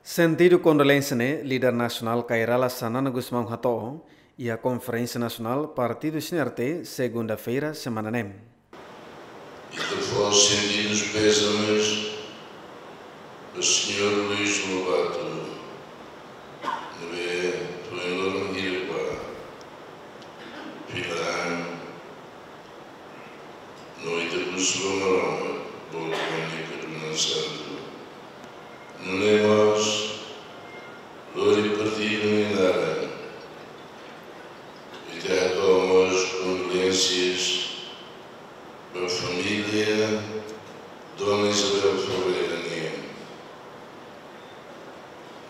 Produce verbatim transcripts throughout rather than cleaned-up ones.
Sentidu kondolénsia ne'e, líder nasionál Kay Rala Xanana Gusmão hato'o iha Konferénsia Nasionál Partidu C N R T, segunda-feira semana ne'e. Ita fó sentidus pésames ba señór Luís Lobato, ne'ebé foin loron hira ba fila an, no ita husu ba Maromak, boot ba nia kadunan santu. Nune'e mós, lori partidu nia naran, ita hato'o mós kondolénsias ba família Dona Isabel Ferreira nian,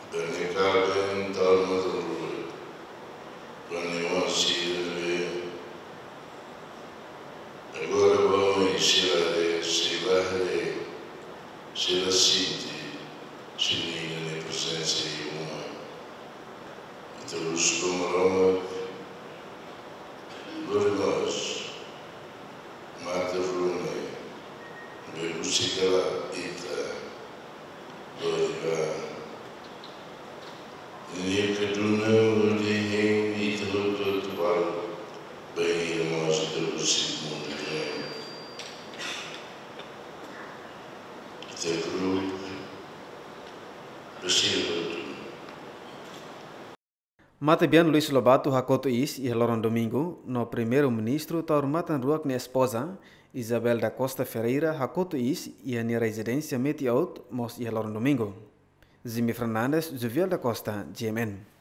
ba nia kaben Taur Matan Ruak, ba nia oan sira ne'ebé agora ba oin sei la haree, sei la haree, sei la sente, sei la iha nia prezensa iha uma. Ita husu ba Maromak, lori mós matan rua ne'ebé husik hela ita, lori ba nia kadunan hodi hein ita hotu-hotu balu, bainhira mós ita husik mundu ne'e. Ita grupu ba sira hotu. Matebian Luís Lobato hakotu iis iha loron domingu, no Primeiru-Ministru Taur Matan Ruak nia espoza, Isabel da Costa Ferreira, hakotu iis iha nia rezidénsia Meti-Aut mós iha loron domingu. Jimmy Fernandes, Juviel da Costa, G M N.